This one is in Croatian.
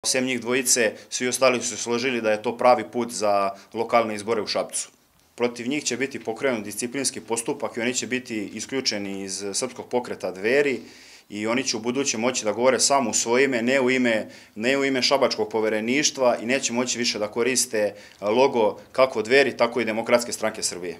Sem njih dvojice, svi ostali su složili da je to pravi put za lokalne izbore u Šapcu. Protiv njih će biti pokrenut disciplinski postupak i oni će biti isključeni iz Srpskog pokreta Dveri i oni će u buduće moći da govore samo u svoje ime, ne u ime Šabačkog povereništva i neće moći više da koriste logo kako Dveri, tako i Demokratske stranke Srbije.